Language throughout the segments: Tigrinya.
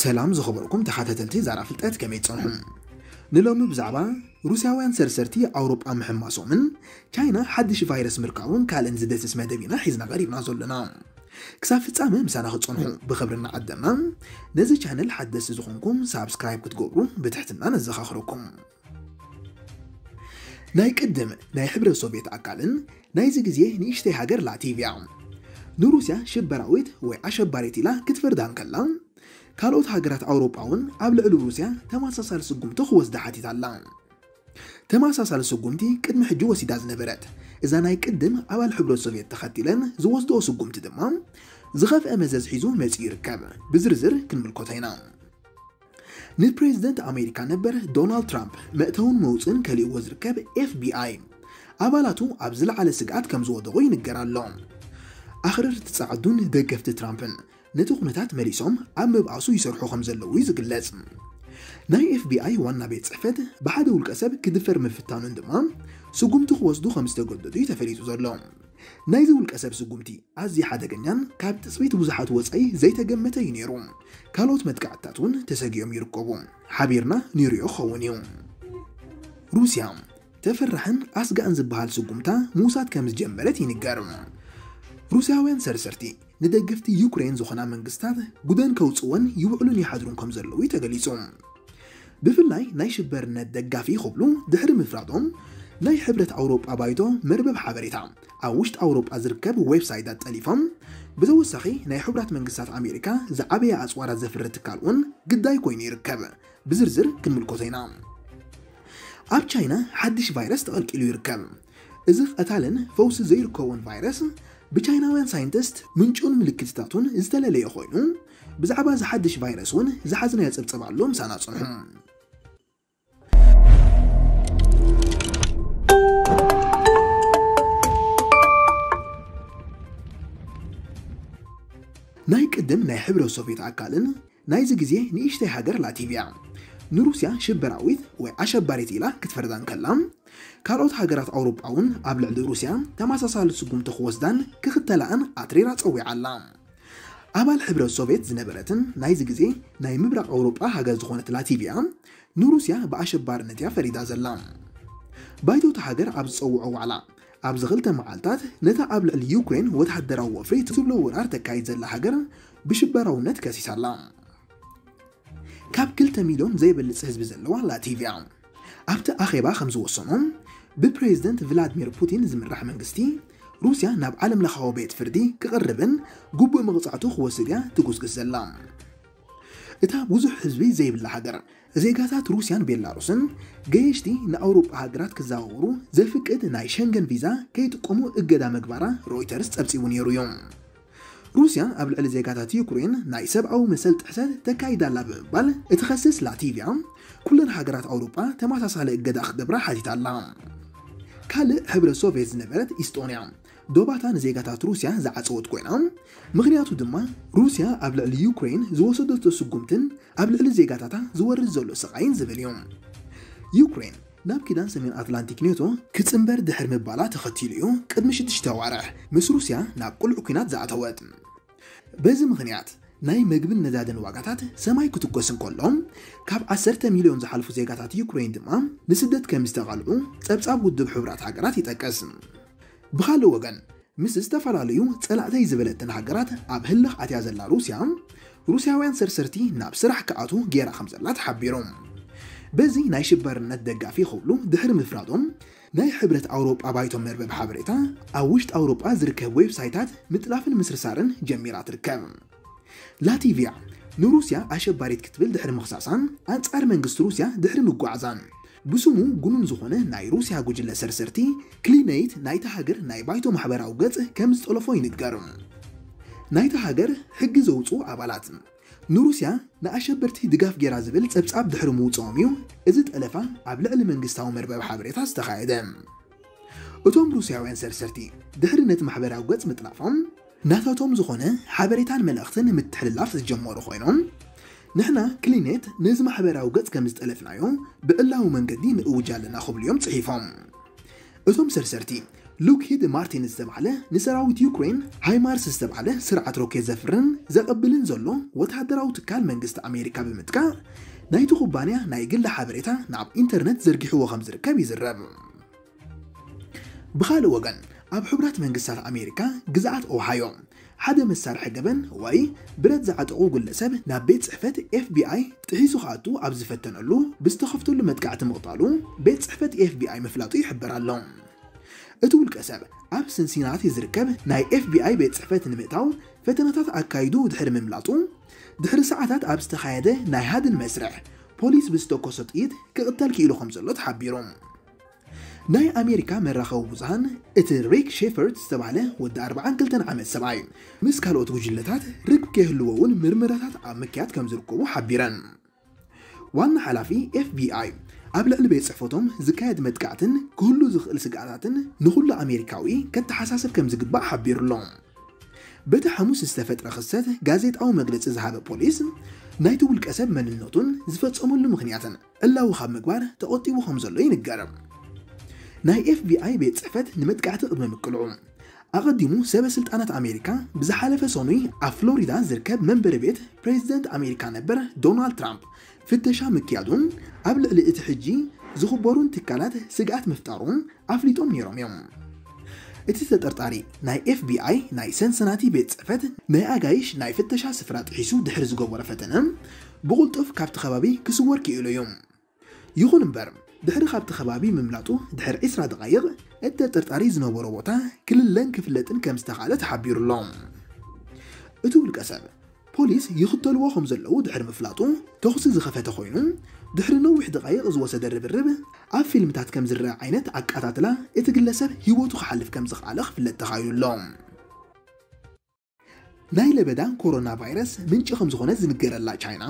ሰላም ዝኸበርኩም ተኸታተልቲ ዛራ ፍልጠት፣ ከመይ ትጸንሑ? ንሎሚ ብዛዕባ ሩስያውያን ሰርሰርቲ ኣውሮጳ ምሕማሶምን ቻይና ሓድሽ ቫይረስ ምርካቡን ካልእን ዝደስስ መደብ ኢና ሒዝና ቀሪብና ዘሎና። ክሳብ ፍጻመ ምሳና ክትጸንሑ ብኽብሪ እናዓደምና፣ ነዚ ቻነል ሓደስቲ ዝኾንኩም ሳብስክራይብ ክትገብሩ ብትሕትና ነዘኻኽረኩም። ናይ ቅድም ናይ ሕብረት ሶቪየት ኣካልን ናይዚ ግዜ ንእሽተይ ሃገር ላቲቪያ ንሩስያ ሽበራዊት ወይ ኣሸባሪት ኢላ ክትፈርዳ እንከላ፣ ካልኦት ሃገራት ኣውሮጳ እውን ኣብ ልዕሊ ሩስያ ተመሳሳሊ ስጉምቲ ክወስዳ ሓቲታ ኣላ። ተመሳሳሊ ስጉምቲ ቅድሚ ሕጂ ወሲዳ ዝነበረት እዛ ናይ ቅድም ኣባል ሕብረት ሶቪየት ተኸቲለን ዝወስድኦ ስጉምቲ ድማ ዝኸፍአ መዘዝ ሒዙ መጺኡ ይርከብ። ብዝርዝር ክንምልከቶ ኢና። ንፕሬዝደንት ኣሜሪካ ነበር ዶናልድ ትራምፕ መእተውን መውፅእን ከሊእዎ ዝርከብ ኤፍቢኣይ ኣባላቱ ኣብ ዝለዓለ ስግኣት ከም ዝወደቑ ይንገር ኣሎ። ኣኽረርቲ ፃዕዱን ደገፍቲ ትራምፕን ነቲ ኩነታት መሊሶም ኣብ ምብኣሱ ይሰርሑ ከም ዘለዉ እዩ ዝግለጽ። ናይ ኤፍቢኣይ ዋና ቤት ጽሕፈት ብሓደ ውልቀ ሰብ ክድፈር ምፍታኑን ድማ ስጉምቲ ክወስዱ ከም ዝተገደዱ እዩ ተፈሊጡ ዘሎ። ናይዚ ውልቀ ሰብ ስጉምቲ ኣዝዩ ሓደገኛን ካብ ትጽቢት ብዙሓት ወጻኢ ዘይተገመተ እዩ ነይሩ። ካልኦት መጥቃዕትታት እውን ተሰጊኦም ይርከቡ። ሓቢርና ንሪኦ ክኸውን እዩ። ሩስያ ተፈራሕን ኣስጋእን ዝበሃል ስጉምታ ምውሳድ ከም ዝጀመረት ይንገር። ሩስያውያን ሰርሰርቲ ንደገፍቲ ዩክሬን ዝኾና መንግስታት ጉደን ከውፅወን ይውዕሉን ይሓድሩን ከም ዘለዉ እዩ ተገሊጹ። ብፍላይ ናይ ሽበርነት ደጋፊ ክብሉ ድሕሪ ምፍራዶም ናይ ሕብረት ኣውሮጳ ባይቶ መርበብ ሓበሬታ ኣብ ውሽጢ ኣውሮጳ ዝርከብ ዌብሳይታት ጠሊፎም፣ ብተወሳኺ ናይ ሕቡራት መንግስታት ኣሜሪካ ዝዓበየ ኣፅዋራት ዘፍሪ ትካል እውን ግዳይ ኮይኑ ይርከብ። ብዝርዝር ክንምልከቶ ኢና። ኣብ ቻይና ሓድሽ ቫይረስ ተቐልቂሉ ይርከብ። እዚ ቀታልን ፈውሲ ዘይርከቦን ቫይረስ ብቻይናውያን ሳይንቲስት ምንጩን ምልክትታቱን ዝተለለየ ኮይኑ፣ ብዛዕባ እዚ ሓድሽ ቫይረስ እውን ዝሓዝናዮ ጸብጸብ ኣሎ። ምሳና ጽንሑ። ናይ ቅድም ናይ ሕብረት ሶቪየት ኣካልን ናይዚ ግዜ ንእሽተይ ሃገር ላቲቪያ ንሩስያ ሽበራዊት ወይ ኣሸባሪት ኢላ ክትፈርዳ እንከላ፣ ካልኦት ሃገራት ኣውሮጳ እውን ኣብ ልዕሊ ሩስያ ተመሳሳሊ ስጉምቲ ክወስዳን ክኽተላኣን ኣትሪራ ጸዊዓ ኣላ። ኣባል ሕብረት ሶቪየት ዝነበረትን ናይዚ ግዜ ናይ ምብራቕ ኣውሮጳ ሃገር ዝኾነት ላቲቪያ ንሩስያ ብኣሸባርነት እያ ፈሪዳ ዘላ። ባይቶ እታ ሃገር ኣብ ዝጸውዖ ዋዕላ፣ ኣብዚ ክልተ መዓልታት ነታ ኣብ ልዕሊ ዩክሬን ወተሃደራዊ ወፍሪ ትብሎ ወራር ተካይድ ዘላ ሃገር ብሽበራውነት ከሲሳ ኣላ። ካብ ክልተ ሚልዮን ዘይበልጽ ህዝቢ ዘለዋ ላቲቪያ ኣብቲ ኣኼባ ከም ዝወሰኖ፣ ብፕሬዝደንት ቭላድሚር ፑቲን ዝምራሕ መንግስቲ ሩስያ ናብ ዓለም ለኻዊ ቤት ፍርዲ ክቕርብን ግቡእ መቕጻዕቱ ክወስድ እያ ትጉስግስ ዘላ። እታ ብዙሕ ህዝቢ ዘይብላ ሃገር፣ ዜጋታት ሩስያን ቤላሩስን ገየሽቲ ንኣውሮጳ ሃገራት ክዘዋወሩ ዘፍቅድ ናይ ሸንገን ቪዛ ከይጥቀሙ እገዳ ምግባራ ሮይተርስ ጸብጺቡ ነይሩ እዩ። ሩስያ ኣብ ልዕሊ ዜጋታት ዩክሬን ናይ ሰብኣዊ መሰል ጥሕሰት ተካይዳ ኣላ ብምባል እትኸስስ ላቲቪያ፣ ኩለን ሃገራት ኣውሮጳ ተመሳሳሊ እገዳ ክገብራ ሓቲታ ኣላ። ካልእ ሕብረት ሶቪየት ዝነበረት ኢስጦንያ፣ ዶባታ ንዜጋታት ሩስያ ዝዓጸወት ኮይና፣ ምኽንያቱ ድማ ሩስያ ኣብ ልዕሊ ዩክሬን ዝወሰደቶ ስጉምትን ኣብ ልዕሊ ዜጋታታ ዝወርድ ዘሎ ስቓይን ዝብል እዩ። ዩክሬን ናብ ኪዳን ሰሜን ኣትላንቲክ ኔቶ ክጽንበር ድሕሪ ምባላ ተኸቲሉ እዩ ቅድሚ ሽዱሽተ ኣዋርሕ ምስ ሩስያ ናብ ቅሉዕ ኲናት ዝኣተወት። በዚ ምኽንያት ናይ መግብን ነዳድን ዋጋታት ሰማይ ክትኮስ እንከሎ፣ ካብ ዓሰርተ ሚልዮን ዝሓልፉ ዜጋታት ዩክሬን ድማ ንስደት ከም ዝተቓልዑ ጸብጻብ ውድብ ሕቡራት ሃገራት ይጠቅስ። ብኻልእ ወገን፣ ምስ ዝተፈላለዩ ጸላእተይ ዝበለተን ሃገራት ኣብ ህልኽ ኣትያ ዘላ ሩስያ፣ ሩስያውያን ሰርሰርቲ ናብ ስራሕ ክኣትዉ ገይራ ከም ዘላ ተሓቢሩ። በዚ ናይ ሽበርነት ደጋፊ ክብሉ ድሕሪ ምፍራዶም፣ ናይ ሕብረት ኣውሮጳ ባይቶ መርበብ ሓበሬታ ኣብ ውሽጢ ኣውሮጳ ዝርከብ ዌብሳይታት ምጥላፍን ምስርሳርን ጀሚራ ትርከብ። ላቲቪያ ንሩስያ ኣሸባሪት ክትብል ድሕሪ ምኽሳሳን ኣንጻር መንግስቲ ሩስያ ድሕሪ ምጓዓዛን፣ ብስሙ ግኑን ዝኾነ ናይ ሩስያ ጉጅለ ሰርሰርቲ ክሊነይት ናይታ ሃገር ናይ ባይቶ ማሕበራዊ ገጽ ከም ዝጠለፎ ይንገር። ናይታ ሃገር ሕጊ ዘውጽኡ ኣባላት ንሩስያ ንኣሸበርቲ ድጋፍ ገይራ ዝብል ጸብጻብ ድሕሪ ምውጽኦም እዩ እዚ ጠለፋ ኣብ ልዕሊ መንግስታዊ መርበብ ሓበሬታ ዝተኻየደ። እቶም ሩስያውያን ሰርሰርቲ ድሕሪ ነቲ ማሕበራዊ ገጽ ምጥላፎም፣ ናታቶም ዝኾነ ሓበሬታን መልእኽትን ምትሕልላፍ ዝጀመሩ ኮይኖም፣ ንሕና ክሊኔት ነዚ ማሕበራዊ ገጽ ከም ዝጠለፍናዮ ብዕላዊ መንገዲ ንእውጅ ኣለና ክብሉ እዮም ጽሒፎም። እቶም ሰርሰርቲ ሉክሂድ ማርቲን ዝተባህለ ንሰራዊት ዩክሬን ሃይማርስ ዝተባህለ ስርዓት ሮኬት ዘፍርን ዘቐብልን ዘሎ ወታደራዊ ትካል መንግስቲ ኣሜሪካ ብምጥቃዕ ናይቲ ኩባንያ ናይ ግሊ ሓበሬታ ናብ ኢንተርነት ዘርጊሕዎ ከም ዝርከብ ይዝረብ። ብኻልእ ወገን ኣብ ሕቡራት መንግስታት ኣሜሪካ ግዝኣት ኦሃዮ ሓደ መሳርሒ ገበን ወይ ብረት ዝዓጠቑ ግለሰብ ናብ ቤት ጽሕፈት ኤፍቢኣይ ጥሒሱ ክኣቱ ኣብ ዝፈተነሉ ብዝተኸፍተሉ መጥቃዕቲ ምቕታሉ ቤት ጽሕፈት ኤፍቢኣይ ምፍላጡ ይሕበር ኣሎ። እቲ ውልቀ ሰብ ኣብ ሲንሲናቲ ዝርከብ ናይ ኤፍቢኣይ ቤት ጽሕፈት ንምእታው ፈተነታት ኣካይዱ ድሕሪ ምምላጡ ድሕሪ ሰዓታት ኣብ ዝተኻየደ ናይ ሃድን መስርሕ ፖሊስ ብዝተኮሶ ጥይት ክቕተል ክኢሉ ከም ዘሎ ተሓቢሩ። ናይ ኣሜሪካ መራኸቢ ብዙሃን እቲ ሪክ ሼፈርድ ዝተባህለ ወዲ ኣርባዓን ክልተን ዓመት ሰብኣይ ምስ ካልኦት ጉጅለታት ርክብ ከይህልዎ እውን ምርመራታት ኣብ ምክያድ ከም ዝርከቡ ሓቢረን። ዋና ሓላፊ ኤፍቢኣይ ኣብ ልዕሊ ቤት ጽሕፈቶም ዝካየድ መጥቃዕትን ክህሉ ዝኽእል ስግኣታትን ንኹሉ ኣሜሪካዊ ከተሓሳስብ ከም ዝግባእ ሓቢሩ ኣሎ። በቲ ሓሙስ ዝተፈጥረ ክስተት ጋዜጣዊ መግለጺ ዝሃበ ፖሊስ ናይቲ ውልቀ ሰብ መንነቱን ዝፈጸመሉ ምኽንያትን ዕላዊ ካብ ምግባር ተቖጢቡ ከም ዘሎ ይንገር። ናይ ኤፍቢኣይ ቤት ጽሕፈት ንመጥቃዕቲ ቅድሚ ምቅልዑ ኣቐዲሙ ሰበ ስልጣናት ኣሜሪካ ብዝሓለፈ ሰኑይ ኣብ ፍሎሪዳ ዝርከብ መንበሪ ቤት ፕሬዚደንት ኣሜሪካ ነበር ዶናልድ ትራምፕ ፍተሻ ምክያዱን ኣብ ልዕሊ እቲ ሕጂ ዝኽበሩን ትካላት ስግኣት ምፍጣሩን ኣፍሊጦም ነይሮም እዮም። እቲ ተጠርጣሪ ናይ ኤፍቢኣይ ናይ ሰንሰናቲ ቤት ጽሕፈት ናይ ኣጋይሽ ናይ ፍተሻ ስፍራ ጥሒሱ ድሕሪ ዝገበሮ ፈተነ ብቕልጡፍ ካብቲ ከባቢ ክስወር ክኢሉ እዩ። ይኹን እምበር ድሕሪ ካብቲ ከባቢ ምምላጡ ድሕሪ ዕስራ ደቓይቕ እቲ ተጠርጣሪ ዝነበሮ ቦታ ክልለን ክፍለጥን ከም ዝተኻእለ ተሓቢሩ ኣሎ። እቲ ውልቀ ሰብ ፖሊስ ይኽተልዎ ከም ዘለዉ ድሕሪ ምፍላጡ ተኹሲ ዝኸፈተ ኮይኑ ድሕሪ ነዊሕ ደቓይቕ ዝወሰደ ርብርብ ኣብ ፊልምታት ከም ዝረአ ዓይነት ኣቃታትላ እቲ ግለሰብ ህይወቱ ክሓልፍ ከም ዝኽኣለ ክፍለጥ ተኻኢሉ ኣሎ። ናይ ለበዳ ኮሮና ቫይረስ ምንጪ ከም ዝኾነ ዝንገረላ ቻይና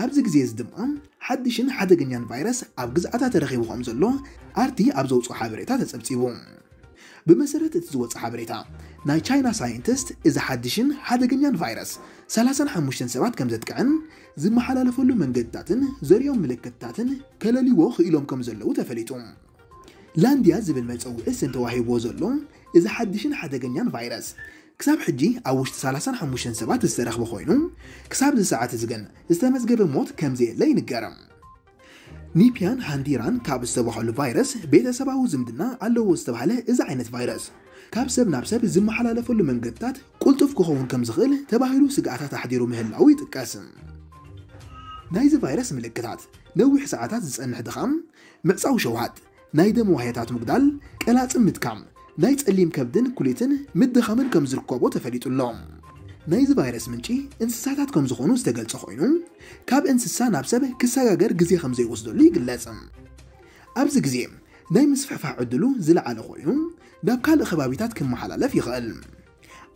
ኣብዚ ግዜ እዚ ድማ ሓድሽን ሓደገኛን ቫይረስ ኣብ ግዝኣታ ተረኺቡ ከም ዘሎ ኣርቲ ኣብ ዘውፅኦ ሓበሬታ ተፀብፂቡ። ብመሰረት እቲ ዝወፀ ሓበሬታ ናይ ቻይና ሳይንቲስት እዚ ሓድሽን ሓደገኛን ቫይረስ ሰላሳን ሓሙሽተን ሰባት ከም ዘጥቅዕን ዝመሓላለፈሉ መንገድታትን ዘርእዮም ምልክትታትን ከለልዎ ክኢሎም ከም ዘለዉ ተፈሊጡ። ላንድያ ዝብል መፀውዒ ስም ተዋሂብዎ ዘሎ እዚ ሓድሽን ሓደገኛን ቫይረስ ክሳብ ሕጂ ኣብ ውሽጢ ሰላሳን ሓሙሽተን ሰባት ዝተረኽበ ኮይኑ ክሳብ እዚ ሰዓት እዚ ግን ዝተመዝገበ ሞት ከም ዘየለ ይንገር። ኒፕያን ሃንዲራን ካብ ዝተባህሉ ቫይረስ ቤተሰባዊ ዝምድና ኣለዎ ዝተባህለ እዚ ዓይነት ቫይረስ ካብ ሰብ ናብ ሰብ ዝመሓላለፈሉ መንገድታት ቁልጡፍ ክኸውን ከም ዝኽእል ተባሂሉ ስግኣታት ኣሕዲሩ ምህላው ይጥቀስ። ናይዚ ቫይረስ ምልክታት ነዊሕ ሰዓታት ዝጸንሕ ድኻም፣ ምዕጻው ሸውሃት፣ ናይ ደም ዋህያታት ምጉዳል፣ ቀላጽም ምድካም፣ ናይ ጸሊም ከብድን ኩሊትን ምድኻምን ከም ዝርከቦ ተፈሊጡ ኣሎ። ናይዚ ቫይረስ ምንጪ እንስሳታት ከም ዝኾኑ ዝተገልጸ ኮይኑ ካብ እንስሳ ናብ ሰብ ክሰጋገር ግዜ ከም ዘይወስደሉ ይግለጽ። ኣብዚ ግዜ ናይ ምስፍሕፋሕ ዕድሉ ዝለዓለ ኮይኑ ናብ ካልእ ከባቢታት ክመሓላለፍ ይኽእል።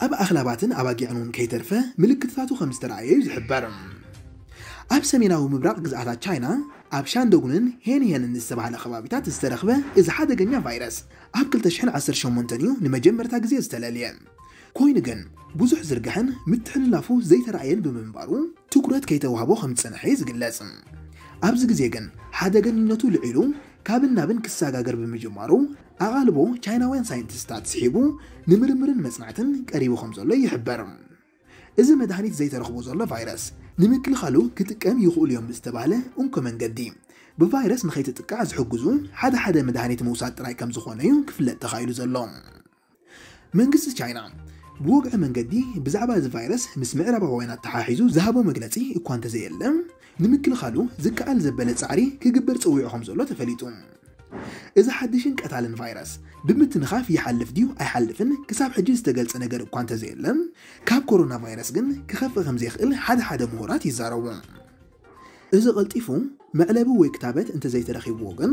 ኣብ ኣኽላባትን ኣባጊዕን እውን ከይተርፈ ምልክትታቱ ከም ዝተረኣየ እዩ ዝሕበር። ኣብ ሰሜናዊ ምብራቕ ግዝኣታት ቻይና ኣብ ሻንዶጉንን ሄንሄንን ዝተባህለ ከባቢታት ዝተረኽበ እዚ ሓደገኛ ቫይረስ ኣብ ክልተ ሽሕን ዓሰርተ ሸሞንተን እዩ ንመጀመርታ ግዜ ዝተለልየ። ኮይኑ ግን ብዙሕ ዝርግሐን ምትሕልላፉ ዘይተረኣየን ብምንባሩ ትኩረት ከይተዋህቦ ከም ዝጸንሐ እዩ ዝግለጽ። ኣብዚ ግዜ ግን ሓደገኝነቱ ልዒሉ ካብን ናብን ክሰጋገር ብምጅማሩ ኣቓልቦ ቻይናውያን ሳይንቲስታት ስሒቡ ንምርምርን መጽናዕትን ቀሪቡ ከም ዘሎ ይሕበር። እዚ መድሃኒት ዘይተረኽቦ ዘሎ ቫይረስ ንምክልኻሉ ክጥቀም ይኽእሉ እዮም ብዝተባህለ እንኮ መንገዲ ብቫይረስ ንኸይትጥቃዕ ዝሕግዙ ሓደ ሓደ መድሃኒት ምውሳድ ጥራይ ከም ዝኾነ እዩ ክፍለጥ ተኻኢሉ ዘሎ። መንግስቲ ቻይና ብወግዒ መንገዲ ብዛዕባ እዚ ቫይረስ ምስ ምዕራባውያን ኣተሓሒዙ ዝሃቦ መግለጺ እኳ እንተዘየለ ንምክልኻሉ ዝከኣል ዘበለ ጻዕሪ ክግበር ጸዊዑ ከም ዘሎ ተፈሊጡ። እዚ ሓድሽን ቀታልን ቫይረስ ብምትንኻፍ ይሓልፍ ድዩ ኣይሓልፍን ክሳብ ሕጂ ዝተገልጸ ነገር እኳ እንተዘየለ ካብ ኮሮና ቫይረስ ግን ክኸፍእ ከም ዘይኽእል ሓደ ሓደ ምሁራት ይዛረቡ። እዚ ቀልጢፉ መዕለቢ ወይ ክታበት እንተዘይተረኺብዎ ግን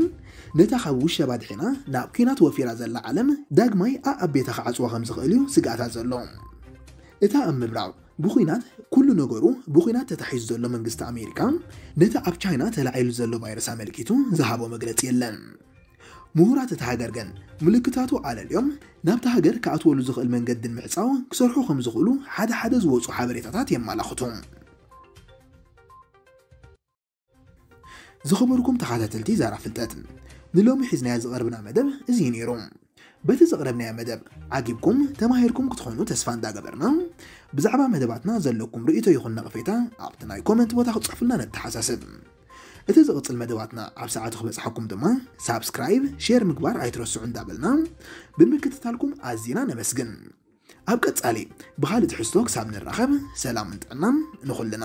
ነታ ካብ ውሸባ ድሒና ናብ ኲናት ወፊራ ዘላ ዓለም ዳግማይ ኣኣቤታ ክዓጽዋ ከም ዝኽእል እዩ ስግኣታት ዘሎ። እታ ኣብ ምብራቕ ብኹናት ኩሉ ነገሩ ብኹናት ተታሒዙ ዘሎ መንግስቲ ኣሜሪካ ነቲ ኣብ ቻይና ተላዒሉ ዘሎ ቫይረስ ኣመልኪቱ ዝሃቦ መግለጺ የለን። ምሁራት እታ ሃገር ግን ምልክታቱ ኣለልዮም ናብታ ሃገር ክኣትወሉ ዝኽእል መንገድን ምዕጻው ክሰርሑ ከም ዝኽእሉ ሓደ ሓደ ዝወፁ ሓበሬታታት የመላኽቱ። ዝኸበርኩም ተኸታተልቲ ዛራ ፍልጠት ንሎሚ ሒዝናዮ ዝቐርብና መደብ እዚ እዩ ነይሩ። በቲ ዘቕረብናዮ መደብ ዓጊብኩም ተማሂርኩም ክትኾኑ ተስፋ እንዳገበርና፣ ብዛዕባ መደባትና ዘለኩም ርእይቶ ይኹን ነቕፌታ ኣብቲ ናይ ኮመንት ቦታ ክትጽሕፉልና ነተሓሳስብ። እቲ ዝቕጽል መደባትና ኣብ ሰዓቱ ክበጽሓኩም ድማ ሳብስክራይብ፣ ሼር ምግባር ኣይትረስዑ እንዳበልና ብምክትታልኩም ኣዚና ነመስግን። ኣብ ቀጻሊ ብኻልእ ትሕዝቶ ክሳብ ንራኸብ ሰላምን ጥዕናን ንኹልና።